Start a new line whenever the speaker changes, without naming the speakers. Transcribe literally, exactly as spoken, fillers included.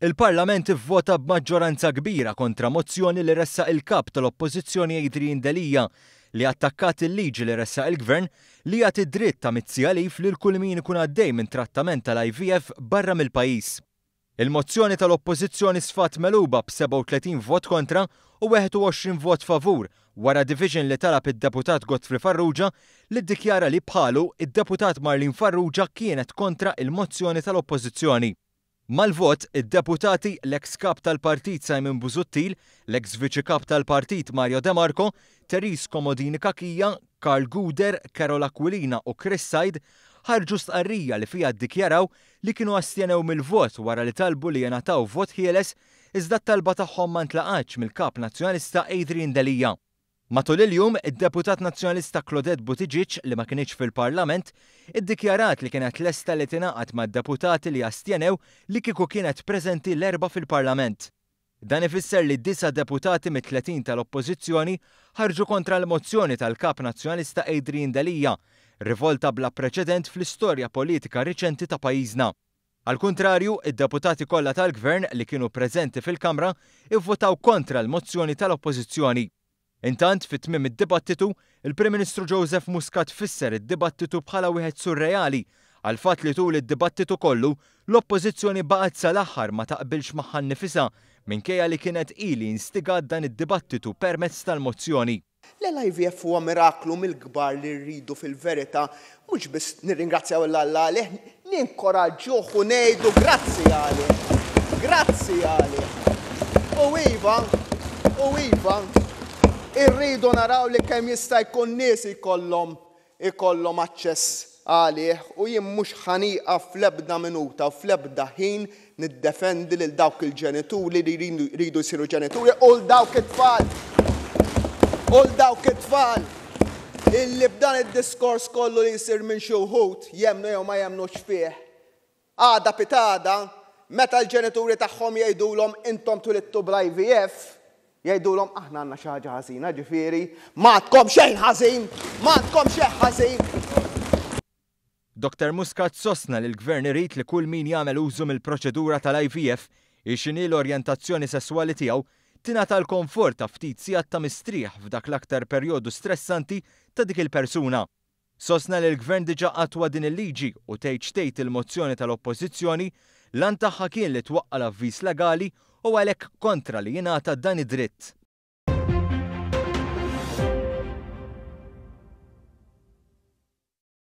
Il-Parlament ivvota b'maġġoranza kbira kontra mozzjoni li ressaq il-Kap tal-Oppożizzjoni Adrian Delia li attakkat il-liġi li ressaq il-Gvern li jagħti dritt ta' mitt siegħa leave lil kull min ikun għaddej minn trattament tal-I V F barra mill-pajjiż. Il-mozzjoni tal-Oppożizzjoni sfat megħluba b'sebgħa u tletin vot kontra u wieħed u għoxrin vot favur wara division li talab id-deputat Godfrey Farrugia, li ddikjara li bħalu id-deputat Marlene Farrugia kienet kontra il-mozzjoni tal-Oppożizzjoni. Mal-vot, id-deputati l-ex kap tal-partit Simon Busuttil, l-ex viċi kap tal-partit Mario De Marco, Therese Comodini Cachia, Karl Gouder, Karol Aquilina u Chris Said ħarġu stqarrija li fija ddikjaraw li kienu astjenew mill-vot wara li talbu li jingħataw vot ħieles, iżda t-talba tagħhom ma ntlaqatx mill-Kap Nazzjonalista Adrian Delia. Matul il-jum, id-deputat nazzjonalista Claudette Buttigieg, li ma kinitx fil-Parlament, iddikjarat li kienet lesta li tingħaqad mad-deputati li astjenew li kieku kienet preżenti l-Erbgħa fil-Parlament. Dan ifisser li disa' deputati mit-tletin tal-Oppożizzjoni ħarġu kontra l-mozzjoni tal-Kap Nazzjonalista Adrian Delia, rivolta bla preċedent fl-istorja politika riċenti ta' pajjiżna. Al kontrarju, id-deputati kollha tal-Gvern li kienu preżenti fil-Kamra ivvotaw kontra l-mozzjoni tal-Oppożizzjoni. Intant, fit tmiem id-dibattitu, il-Prim Ministru Joseph Muscat fisser id-dibattitu bħala wieħed surreali għal fatt li tul id-dibattitu kollu l-Oppożizzjoni baqgħet sal-aħħar ma taqbilx magħha nnifisha, minkejja li kienet ili instigat dan id-dibattitu permezz tal-mozzjoni.
L-I V F huwa miraklu mill-kbar li rridu fil-verità mhux biss nirringrazzjaw 'l Alla għalih, ninkoraġġuh u ngħidu grazzi għalih. Grazzi għalih. U iva, u iva, irridu naraw li kemm jista' jkun nies ikollhom ikollhom aċċess għalih, u jien mhux ħa nieqaf fl-ebda minuta u fl-ebda ħin niddefendi lil dawk il-ġenituri li jridu jsiru ġenituri u l dawk it-tfal. U l dawk it-tfal illi b'dan id-diskors kollu li jsir minn xi wħud, jemmnu jew ma jemmnux fih. Għada pitgħada, meta l-ġenituri tagħhom jgħidulhom "Intom twilidtu bl-I V F", jgħidulhom "Aħna għandna xi ħaġa ħażina?" Ġifieri, m'għandkom xejn ħażin, m'għandkom xejn ħażin.
Doktor Muscat sostna li l-Gvern irid li kull min jagħmel użu mill-proċedura tal-I V F, x'inhi l-orjentazzjoni sesswali tiegħu, tingħata l-komfort ta' ftit sigħat ta' mistrieħ f'dak l-aktar perjodu stressanti ta' dik il-persuna. Sostna li l-Gvern diġà attwa din il-liġi u tgħid x'tgħid il-mozzjoni tal-Oppożizzjoni l-għan tagħha kien li twaqqa' l-avviż legali u għalhekk kontra li jingħata dan id-dritt.